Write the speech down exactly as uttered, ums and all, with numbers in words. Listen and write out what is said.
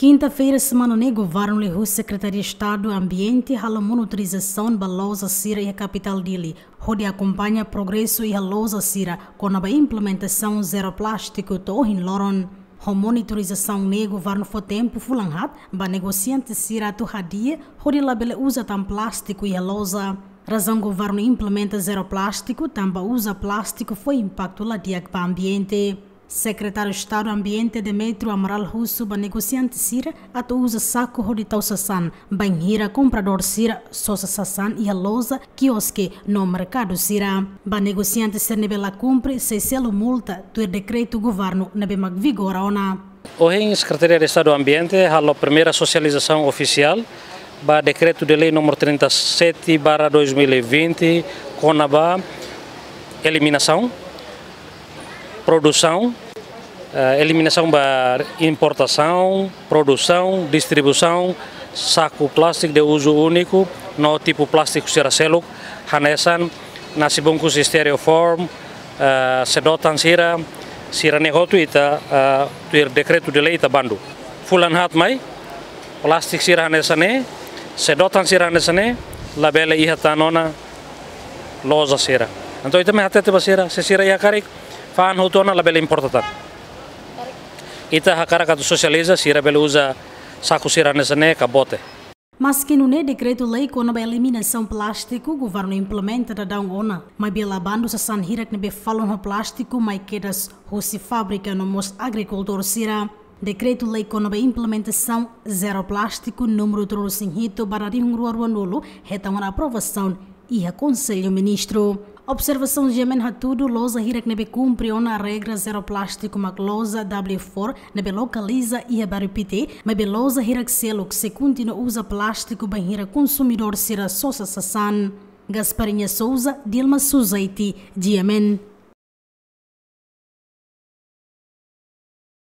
Kinta-feira semana ne'e, Governu liuhusi Sekretaria Estadu Ambiente halo monitorizasaun ba loja sira iha kapitál Dili, hodi akompaña progresu iha loja sira kona-ba implementasaun zero plástiku to'o ohin loron. Ho monitorizasaun ne'e, Governu fó tempu fulan haat ba negosiante sira atu hadi'a hodi labele uza tan plástiku iha loja. Razaun Governu implementa zero plástiku tanba uza plástiku fó impaktu la di'ak ba ambiente. Sekretáriu Estadu Ambiente Demetrio Amaral husu ba negosiante sira atu uza saku hodi tau sasán, bainhira kompradór sira sosa sasán iha loja, kioske no merkadu sira. Ba negosiante sira ne'ebé la kumpre, sei selu multa tuir dekretu Governu ne'ebé mak vigora ona. Ohin Sekretaria Estadu Ambiente halo primeira sosializasaun ofisiál ba Dekretu-Lei número trinta e sete barra dois mil e vinte, kona-ba eliminasaun, produsaun, eh, eliminasaun ba importasaun, produsaun, distribuisaun saku plástiku de uzu úniku no tipu plástiku sira seluk, hanesan nasi bungkus styrofoam, eh, sedotan sira, sira-ne'e hotu ita, eh, tuir dekretu-lei ita bandu. Fulan haat mai, plástiku sira hanesan ne'e, sedotan sira hanesan ne'e, labele iha tan ona loja sira. Entaun ita mai hatete ba sira, se sira iha karik, fa'an hotu ona, labele importa tan. Ita hakarak atu sosializa, sira bele uza saku sira hanesan ne'e ka bote. Maski nune'e, dekretu-lei kona-ba eliminasaun plástiku Governu implementa daudaun ona, maibé la bandu sasán hirak ne'ebé falun ho plástiku mai kedas husi fábrika no mós agrikultór sira. Dekretu-Lei kona-ba implementasaun zero plástiku númeru tolunulu-resin-hitu barra rihun rua ruanulu hetan ona aprovasaun iha Konsellu Ministru. Observasaun GMN hatudu, loja hirak ne'ebé kumpre ona regra zero plástiku mak loja W four ne'ebé lokaliza iha Bairru Pité, maibé loja hirak seluk sei kontinua uza plástiku bainhira konsumidór sira sosa sasán. Gasparinha Souza, Dilma Suzaiti, GMN.